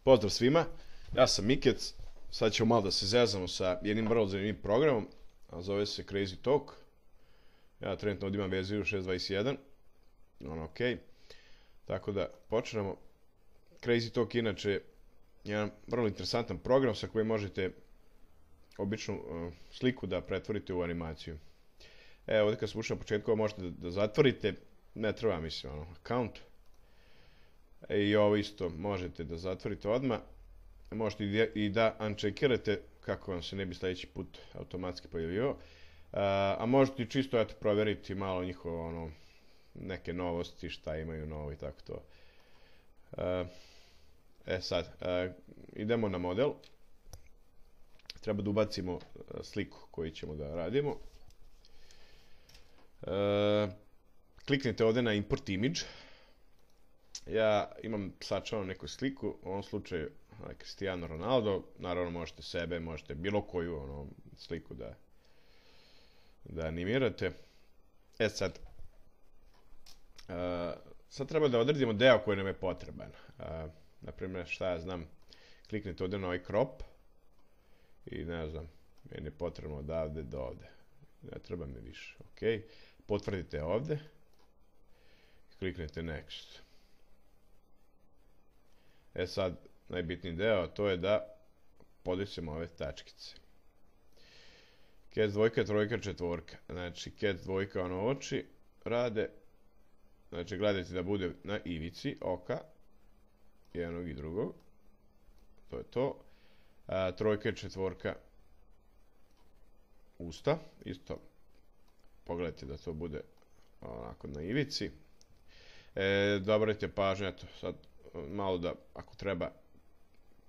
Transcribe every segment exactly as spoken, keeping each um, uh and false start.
Pozdrav svima, ja sam Mikec, sad ćemo malo da se zezamo sa jednim vrlo zanimljivim programom, a zove se Crazy Talk. Ja trenutno ovdje imam verziju šest dvadeset jedan, ono ok, tako da počnemo. Crazy Talk inače je jedan vrlo interesantan program sa kojim možete običnu uh, sliku da pretvorite u animaciju. Evo ovdje kad sam ušao na početku, možete da, da zatvorite, ne treba mislim ono, account. E, I ovo isto možete da zatvorite odmah. Možete i, i da uncheckirate kako vam se ne bi sljedeći put automatski pojavio. A, a možete i čisto eto, provjeriti malo njihovo ono, neke novosti, šta imaju novo i tako to. A, e sad, a, idemo na model. Treba da ubacimo sliku koju ćemo da radimo. A, kliknite ovdje na import image. Ja imam sačuvanu neku sliku, u ovom slučaju Cristiano Ronaldo, naravno možete sebe, možete bilo koju ono, sliku da, da animirate. E sad, uh, sad treba da odredimo deo koji nam je potreban. Uh, naprimjer, šta ja znam, kliknite ovdje na ovaj crop i ne znam, meni je potrebno odavde do ovde. Ne treba mi više, ok. Potvrdite ovdje i kliknete next. E sad, najbitniji deo, to je da podesimo ove tačkice. Cat dvojka, trojka, četvorka. Znači, cat dvojka, ono oči rade. Znači, gledajte da bude na ivici oka. Jednog i drugog. To je to. A, trojka i četvorka usta. Isto, pogledajte da to bude onako na ivici. E, dobrajte pažnju, eto, sad malo da, ako treba,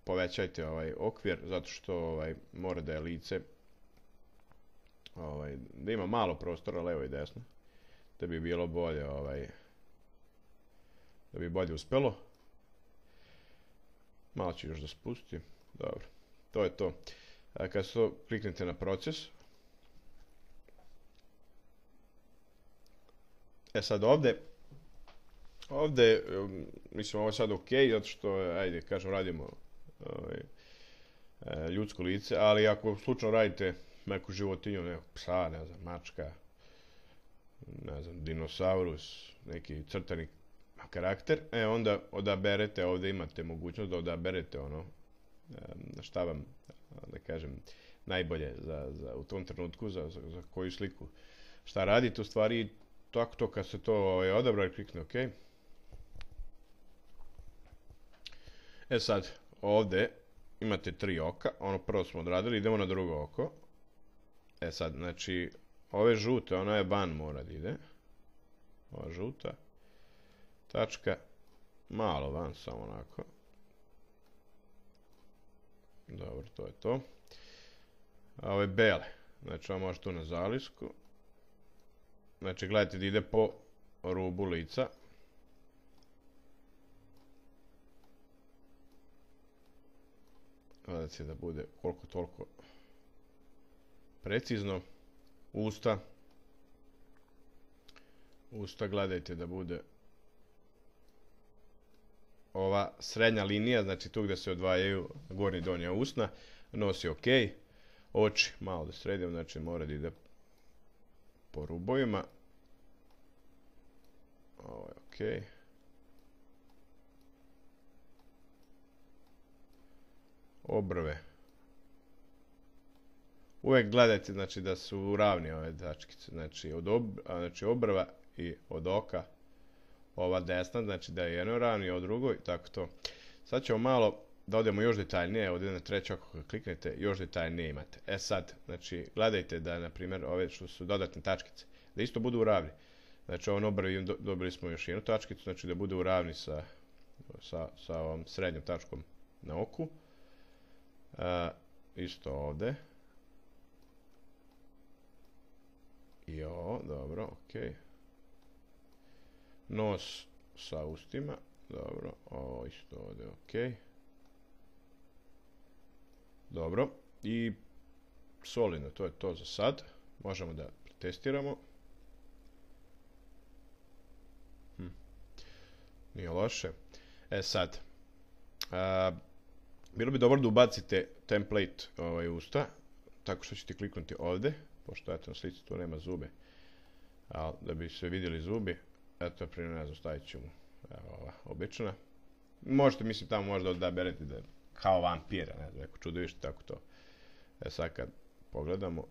povećajte ovaj okvir, zato što ovaj, mora da je lice, ovaj, da ima malo prostora levo i desno, da bi bilo bolje, ovaj, da bi bolje uspelo. Malo ću još da spustim, dobro, to je to. A kad se to kliknete na proces, e sad ovdje, Ovdje, mislim, ovo je sad ok, zato što, ajde, kažem, radimo ovaj, ljudsko lice, ali ako slučajno radite neku životinju, nekog psa, ne znam, mačka, ne znam, dinosaurus, neki crtani karakter, e, onda odaberete, ovdje imate mogućnost da odaberete ono, šta vam, da kažem, najbolje za, za, u tom trenutku, za, za, za koju sliku, šta radite, u stvari, tako to kad se to ovaj, odabra, klikne ok. E sad, ovdje imate tri oka, ono prvo smo odradili, idemo na drugo oko. E sad, znači, ove žute, ona je van mora da ide. Ova žuta. Tačka, malo van, samo onako. Dobro, to je to. A ove bele, znači ovo može tu na zalisku. Znači, gledajte da ide po rubu lica. Gledajte da bude koliko toliko precizno. Usta. Usta gledajte da bude ova srednja linija, znači tu gdje se odvajaju gornja i donja usna. Nos je ok. Oči malo da sredim, znači mora da ide po rubovima. Ovo je ok. Obrve. Uvijek gledajte znači, da su ravni ove tačkice. Znači, od ob, znači obrva i od oka ova desna, znači da je jedno ravno i od drugo i tako to. Sad ćemo malo da odemo još detaljnije, ovdje na treće oko kad kliknete, još detaljnije imate. E sad, znači, gledajte da, na primjer, ove što su dodatne tačkice, da isto budu ravni. Znači, ovom obrvi dobili smo još jednu tačkicu, znači da bude u ravni sa, sa, sa ovom srednjom tačkom na oku. Uh, isto ovdje. I ovo, dobro, ok. Nos sa ustima, dobro, ovo isto ovdje, ok. Dobro, i solidno, to je to za sad. Možemo da testiramo. Hm. Nije loše. E sad, a, bilo bi dobro da ubacite template ovaj, usta, tako što ćete kliknuti ovdje, pošto eto na slici tu nema zube, ali da bi se vidjeli zubi, eto primjer, ne znam, stavit ću mu, evo ova, obična. Možete, mislim, tamo možda odaberete da je kao vampira, ne znam, neko čudovište, tako to. E sad kad pogledamo,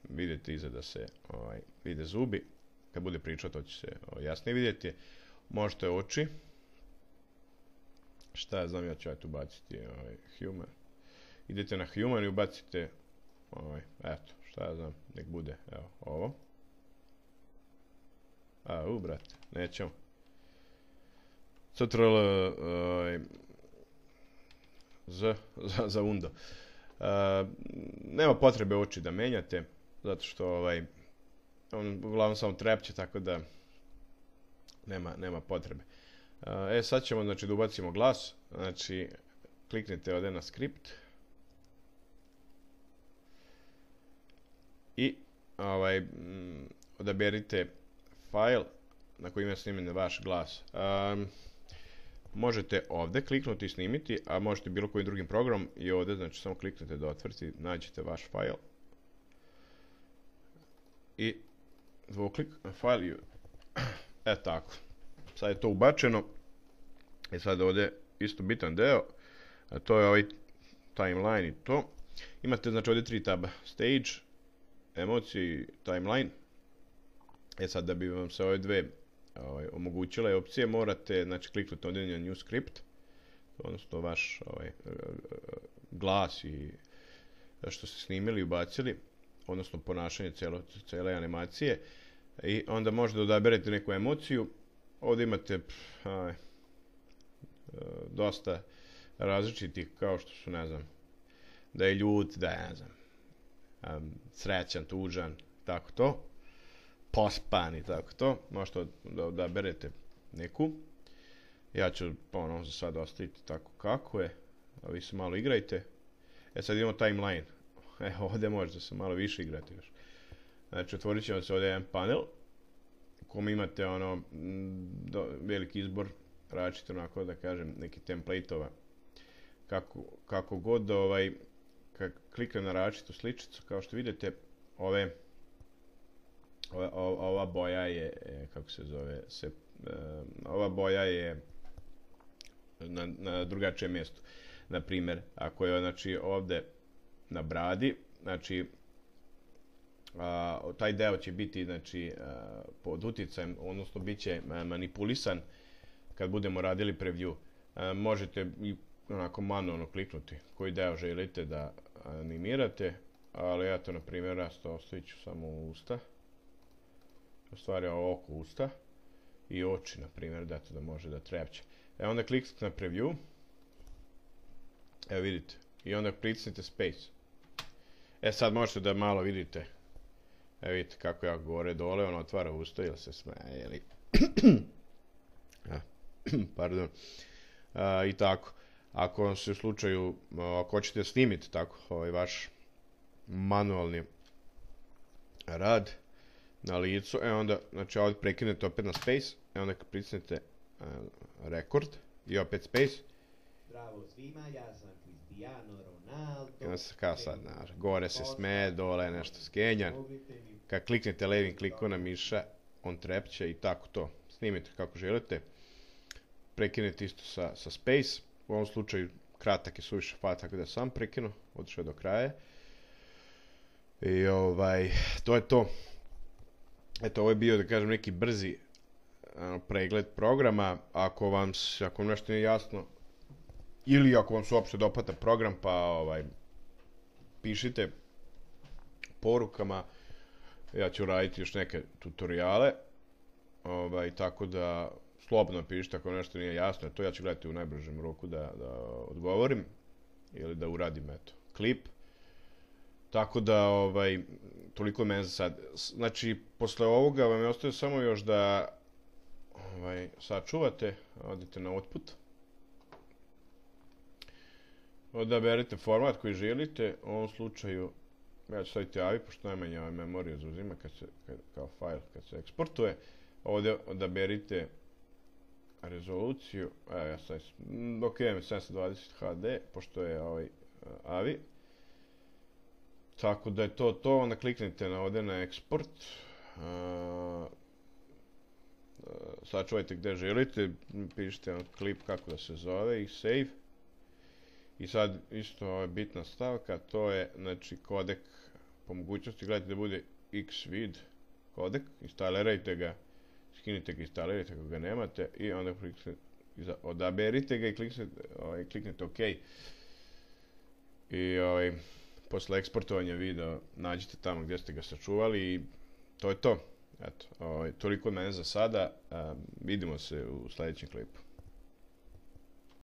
vidite iza da se ovaj, vide zubi, kad bude pričao to će se ovaj, jasnije vidjeti. Možete oči, šta ja znam, ja ću tu baciti ovaj, human. Idete na human i ubacite, ovaj, eto, šta ja znam, nek bude, evo, ovo. A, u, brate, nećemo. Ctrl, ovaj, z, za, za undo. Uh, nema potrebe oči da menjate, zato što ovaj, on uglavnom samo trepće, tako da nema, nema potrebe. Uh, e, sad ćemo, znači, da ubacimo glas, znači, kliknite ovdje na skript i ovaj, m, odaberite file na kojem je snimljen vaš glas. Um, Možete ovdje kliknuti i snimiti, a možete bilo kojim drugim programom i ovdje, znači samo kliknete da otvrti, nađete vaš file i dvoklik na file i e tako. Sad je to ubačeno i sad ovdje isto bitan deo, a to je ovaj timeline i to. Imate znači ovdje tri taba, stage, emocije i timeline. E sad da bi vam se ove dve Ovaj, omogućile opcije, morate znači, kliknuti ovdje na new script, odnosno vaš ovaj, glas i što ste snimili i ubacili, odnosno ponašanje cijelo, cijele animacije, i onda možete odaberete neku emociju. Ovdje imate pff, aj, dosta različitih, kao što su, ne znam, da je ljut, da je, ne znam, um, srećan, tužan, tako to. Pospan i tako to, možete da odaberete neku. Ja ću ono za sad ostaviti tako kako je, a vi se malo igrajte. E sad imamo timeline, e ovdje možete se malo više igrati još. Znači otvorit ćemo se ovdje jedan panel u kom imate ono do, veliki izbor različito, onako da kažem, neki template-ova. Kako, kako god ovaj, kad kliknem na različitu sličicu, kao što vidite, ove Ova, ova boja je, kako se zove, se, ova boja je na, na drugačijem mjestu. Na primjer, ako je znači ovdje na bradi, znači a, taj deo će biti znači a, pod utjecajem, odnosno bit će manipulisan kad budemo radili preview. A, možete i onako manualno kliknuti koji deo želite da animirate, ali ja to na primjer rasto ostavit ću samo usta. U stvari oko usta i oči, na primjer, da to da može da trepće. E onda kliknite na preview. Evo vidite. I onda kliknite space. E sad možete da malo vidite. Evo vidite kako ja gore dole, on otvara usta ili se smeje, ili... Pardon. A, I tako. Ako vam se u slučaju, ako hoćete snimiti tako, ovaj vaš manualni rad na licu, e onda, znači ovdje prekinete opet na space, e onda kad pritisnete uh, record i opet space. Bravo svima, ja sam Cristiano Ronaldo. I onda se kao sad, znaš, gore se smeje, dole nešto skenja. Kad kliknete levim klikom na miša, on trepće i tako to. Snimite kako želite. Prekinete isto sa, sa space. U ovom slučaju kratak je suviše fat, tako da sam prekinu, otišao do kraja. I ovaj, to je to. Eto, ovo je bio, da kažem, neki brzi uh, pregled programa. Ako vam, ako vam nešto nije jasno, ili ako vam se uopšte dopada program, pa ovaj, pišite porukama. Ja ću raditi još neke tutoriale. Ovaj, tako da, slobodno pišite ako nešto nije jasno. To ja ću gledati u najbržem roku da, da odgovorim. Ili da uradim, eto, klip. Tako da, ovaj, toliko mene za sad. Znači, posle ovoga vam je ostaje samo još da ovaj, sačuvate, odite na output. Odaberete format koji želite. U ovom slučaju, ja ću staviti A V I, pošto najmanje ovaj memoriju zauzima kad se, kad, kao file kad se eksportuje. Ovdje odaberite rezoluciju, evo ja sad, mm, ok, imam sedamsto dvadeset H D, pošto je ovaj uh, A V I. Tako da je to to, onda kliknite na ovdje na eksport. Uh, sačuvajte gdje želite, pišite na klip kako da se zove i save. I sad isto je bitna stavka, to je znači kodek po mogućnosti, gledajte da bude Xvid kodek, instalirajte ga, skinite ga, instalirajte ako ga nemate i onda kliknite, odaberite ga i kliknite, ovaj, kliknite OK. I ovaj, posle eksportovanja videa nađite tamo gdje ste ga sačuvali i to je to. Eto, ovaj, toliko od mene za sada, um, vidimo se u sljedećem klipu.